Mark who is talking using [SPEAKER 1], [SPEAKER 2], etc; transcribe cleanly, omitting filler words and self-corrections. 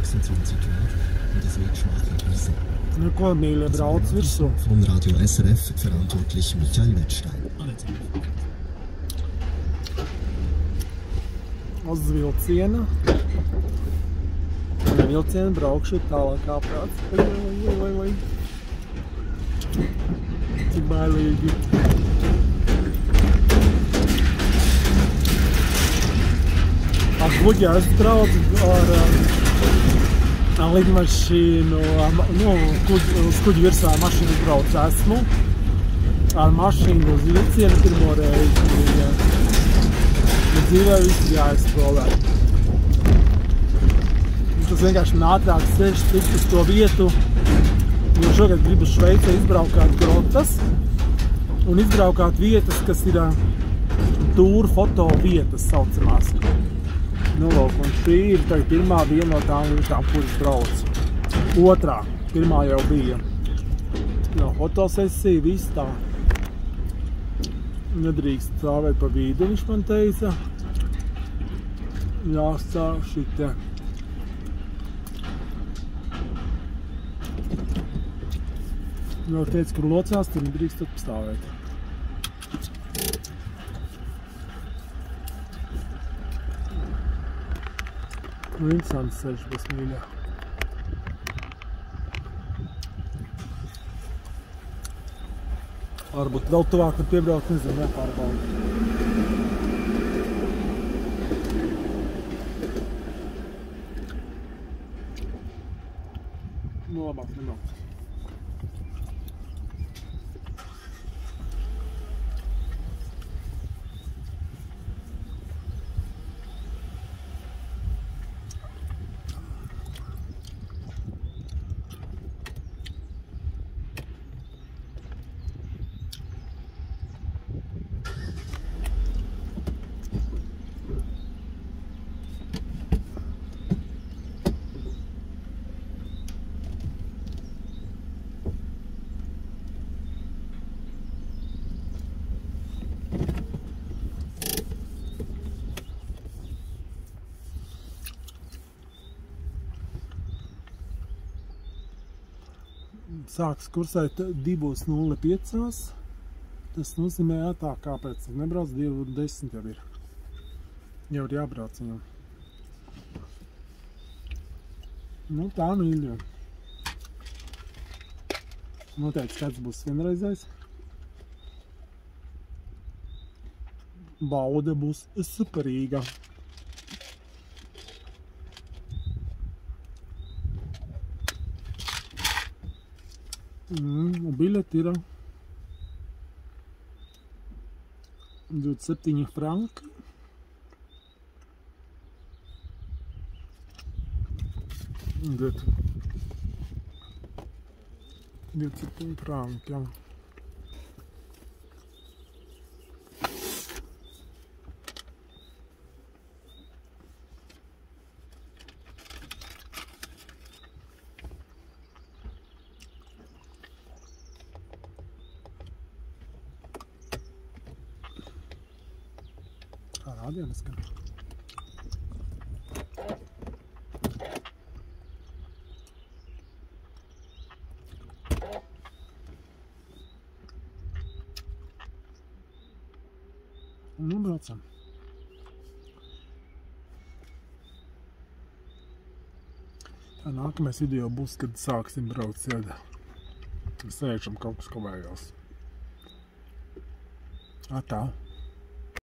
[SPEAKER 1] 26 Uhr und es wird schwach gepriesen.
[SPEAKER 2] Nu ko mīļie brauc virsū.
[SPEAKER 1] Von Radio SRF verantwortlich Michael Wettstein.
[SPEAKER 2] Uz vilciena. Un vilciena braukšu tālākā prāts. Oi. Cik bailīgi. Ar kuģi es braucu ar lidmašīnu, uz kuģi virsā mašīnu braucu esmu. Ar mašīnu uz vilcienu pirmo reizi. Dzīvē viss jāizskolē. Tas vienkārši ātrāk ceļš tikt uz to vietu, jo šogad gribu Šveicē izbraukāt grotas un izbraukāt vietas, kas ir tūru foto vietas saucamās. Nu, lūk, un šī ir tagad pirmā viena no tām vietām, kuras braucu. Otrā, pirmā jau bija. Jo, fotosesija, viss tā. Nedrīkst stāvēt pa vidu, viņš man teica. Jāstāv šitie. Jau teica, kur locās, tur nedrīkst stāvēt. Interesants ceļš, bez mīļā. Varbūt vēl tuvāk var piebraukt, nezinu, nepārbaudu. Nu, labāk nebraukt. Sāks kursēt 2:05. Tas nozīmē, tā kāpēc nebrauc 2:10 jau ir. Jau ir jābrauc viņam. Nu tā mīļo. Noteikti skats būs vienreizais. Bauda būs superīga. Bileti ir 27 franki. Un 27 franki, jā. Rādienas, ka. Nu, braucam. Tā nākamais video būs, kad sāksim braukt sēdā. Sēžam kaut kas kavējās. Tā.